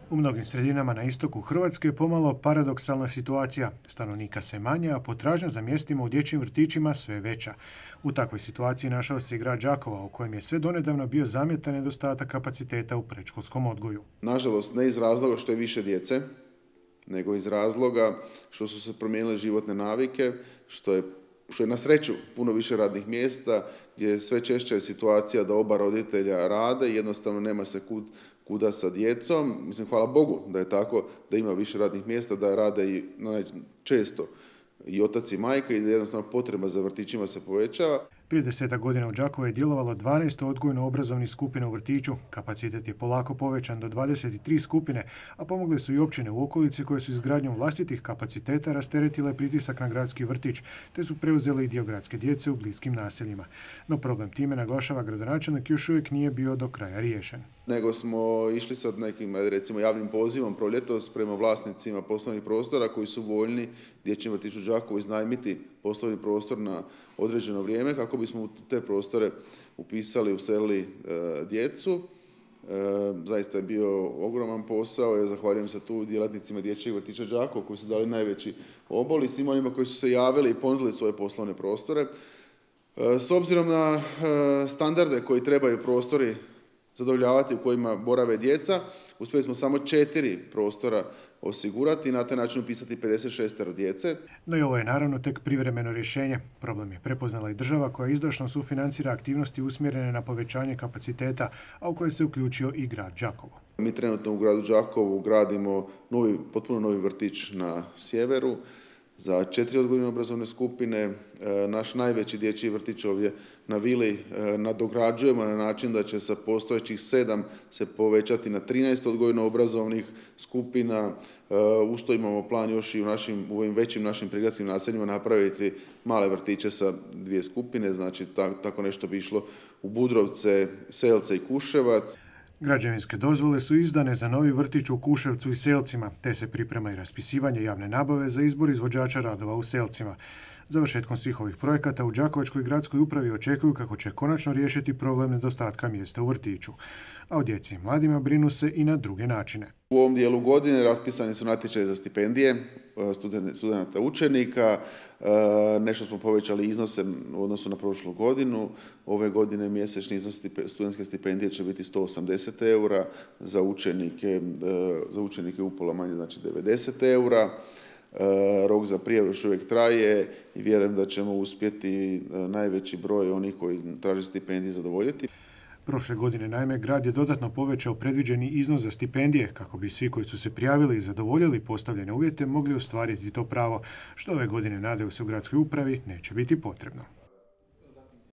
U mnogim sredinama na istoku Hrvatske je pomalo paradoksalna situacija. Stanovnika sve manje, a potražnja za mjestima u dječjim vrtićima sve veća. U takvoj situaciji našao se i grad Đakovo, u kojem je sve donedavno bio zamjetan nedostatak kapaciteta u predškolskom odgoju. Nažalost, ne iz razloga što je više djece, nego iz razloga što su se promijenile životne navike, što je na sreću puno više radnih mjesta, gdje je sve češća je situacija da oba roditelja rade i jednostavno nema se kuda sa djecom. Mislim, hvala Bogu da je tako, da ima više radnih mjesta, da rade i često i otac i majka i da jednostavno potreba za vrtićima se povećava. Prije 10 godina u Đakovu je djelovalo 12 odgojno-obrazovnih skupina u vrtiću. Kapacitet je polako povećan do 23 skupine, a pomogle su i općine u okolici koje su izgradnjom vlastitih kapaciteta rasteretile pritisak na gradski vrtić, te su preuzele i dio gradske djece u bliskim naseljima. No problem time, naglašava gradonačelnik, još uvijek nije bio do kraja riješen. Nego smo išli sad nekim, recimo, javnim pozivom proljetos prema vlasnicima poslovnih prostora koji su voljni dječjem vrtiću Đakovu iznajmiti poslovni prostor na određeno vrijeme kako bismo u te prostore upisali, uselili djecu. Zaista je bio ogroman posao. Ja zahvaljujem se tu djelatnicima dječjeg vrtića Đakovo koji su dali najveći obol i svim onima koji su se javili i ponudili svoje poslovne prostore. S obzirom na standarde koji trebaju prostori zadovoljavati u kojima borave djeca, uspjeli smo samo 4 prostora osigurati i na taj način upisati 56 djece. No i ovo je naravno tek privremeno rješenje. Problem je prepoznala i država koja izdašno sufinancira aktivnosti usmjerene na povećanje kapaciteta, a u koje se uključio i grad Đakovo. Mi trenutno u gradu Đakovu gradimo potpuno novi vrtić na sjeveru za 4 odgojno-obrazovne skupine. Naš najveći dječji vrtić ovdje na Vili nadograđujemo na način da će sa postojećih 7 se povećati na 13 odgojno-obrazovnih skupina. Usto imamo plan još i u ovim većim našim prigradskim naseljima napraviti male vrtiće sa 2 skupine, znači tako nešto bi išlo u Budrovce, Selce i Kuševac. Građevinske dozvole su izdane za novi vrtić u Kuševcu i Selcima, te se priprema i raspisivanje javne nabave za izbor izvođača radova u Selcima. Završetkom svih ovih projekata u Đakovačkoj gradskoj upravi očekuju kako će konačno riješiti problem nedostatka mjesta u vrtiću. A o djeci i mladima brinu se i na druge načine. U ovom dijelu godine raspisani su natječaji za stipendije studenata učenika. Nešto smo povećali iznose u odnosu na prošlu godinu. Ove godine mjesečni iznos studentske stipendije će biti 180 eura, za učenike upola manje, znači 90 eura. Rok za prijavu još uvijek traje i vjerujem da ćemo uspjeti najveći broj onih koji traže stipendije zadovoljiti. Prošle godine, naime, grad je dodatno povećao predviđeni iznos za stipendije kako bi svi koji su se prijavili i zadovoljili postavljene uvjete mogli ostvariti to pravo, što ove godine, nadaju se u gradskoj upravi, neće biti potrebno.